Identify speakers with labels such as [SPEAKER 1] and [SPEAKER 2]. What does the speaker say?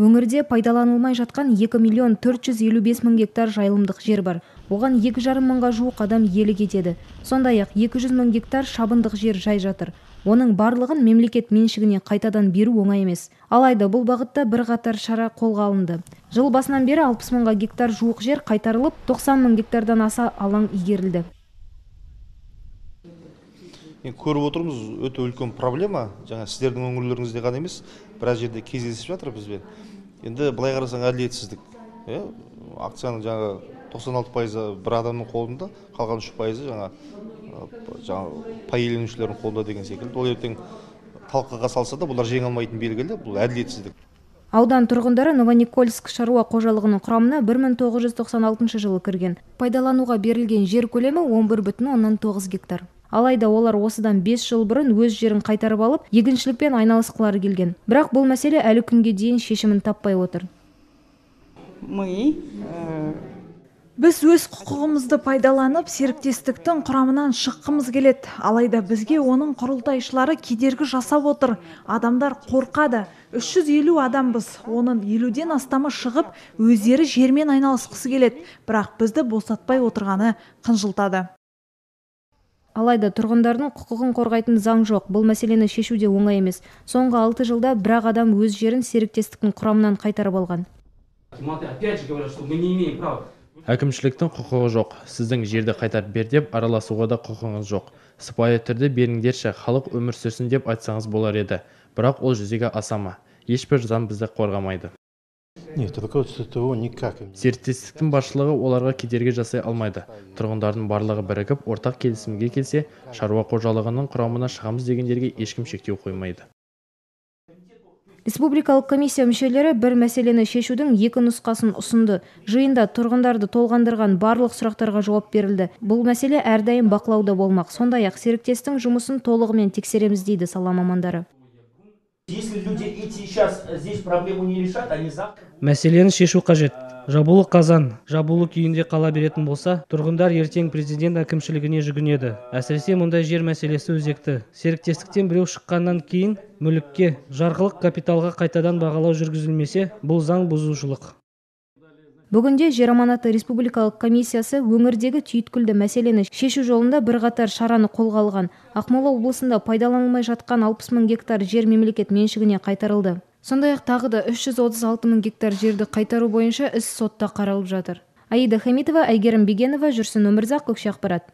[SPEAKER 1] Өңірде пайдаланылмай жатқан 2.455.000 гектар жайылымдық жер бар. Оған 2,5 мыңға жуық адам иелік етеді. Сондай-ақ 200.000 гектар шабындық жер жай жатыр. Оның барлығын мемлекет меншігіне қайтадан беру оңай емес. Алайда бұл бағытта бірқатар шара қолға алынды. Жыл басынан бері 60 мыңға гектар жуық жер қайтарылып, 90 мың гектардан аса алаң игерілді.
[SPEAKER 2] Көріп отырмыз, өте үлкен проблема. Жаңа сіздердің өңірлеріңізде ғана емес, біраз жерде кездесіп жатыр бізбен. Енді былай қарасаң әділетсіздік. Акцияның жаңа 96% бір адамның қолында, қалған 3% жаңа пай иеленушілердің қолында деген секілді. Ол ертең талқыға салса да, бұлар жеңе алмайтын белгілі, бұл әділетсіздік.
[SPEAKER 1] Аудан тұрғындары Новоникольск шаруа қожалығының құрамына 1996 жылы кірген. Пайдалануға берілген жер көлемі 11,9 гектар. Алайда олар осыдан 5 жыл бұрын өз жерін қайтарып алып, егіншілікпен айналысқылары келген. Бірақ бұл мәселе әлі күнге дейін шешімін таппай отыр.
[SPEAKER 3] Біз өз құқығымызды пайдаланып, серіктестіктің құрамынан шыққымыз келеді. Алайда бізге оның құрылтайшылары кедергі жасап отыр. Адамдар қорқады. 350 адамбыз. Оның 50-ден астамы шығып, өздері жермен айналысқысы келеді. Бірақ бізді босатпай отырғаны қынжылтады.
[SPEAKER 1] Алайда тұрғындардың құқығын қорғайтын заң жоқ. Бұл мәселені шешуде оңай емес. Соңғы 6 жылда бірақ адам өз жерін серіктестіктің құрамынан қайтарып алған.
[SPEAKER 4] Әкімшіліктің құқығы жоқ. Сіздің жерді қайтарып бер деп араласуға да құқығыңыз жоқ. Сыпайы түрде беріңдерші, халық өмір сүрсін деп айтсаңыз болар еді. Бірақ ол жүзеге асама. Ешбір заң бізді қорғамайды. Серіктестіктің басшылығы оларға кедергі жасай алмайды. Тұрғындардың барлығы бірігіп, ортақ келісімге келсе, шаруа қожалығының құрамына шығамыз дегендерге ешкім шектеу қоймайды.
[SPEAKER 1] Республикалық комиссия мүшелері бір мәселені шешудің 2 нұсқасын ұсынды. Жиында тұрғындарды толғандырған барлық сұрақтарға жауап берілді. Бұл мәселе әрдайым бақылауда болмақ. Сондай-ақ серіктестің жұмысын толығымен тексереміз дейді сала мамандары.
[SPEAKER 5] Мәселені шешу қажет. Жабулы қазан, жабулы күйінде қала беретін болса, тұрғындар ертең президент әкімшілігіне жүгінеді. Әсіресе мұндай жер мәселесі өзекті. Серіктестіктен біреу шыққаннан кейін мүлікке, жарғылық капиталға қайтадан бағалау жүргізілмесе, бұл заң бұзушылық.
[SPEAKER 1] Бүгінде жер аманаты республикалық комиссиясы өңірдегі түйткілді мәселені шешу жолында бірқатар шараны қолға алған. Ақмола облысында пайдаланылмай жатқан 60 мың гектар жер мемлекет меншігіне қайтарылды. Сондай-ақ тағы да 336 мың гектар жерді қайтару бойынша іс сотта қаралып жатыр. Аида Хамитова, Әйгерім Бегенова, Жүрсін Өмірзақ, Көкше ақпарат.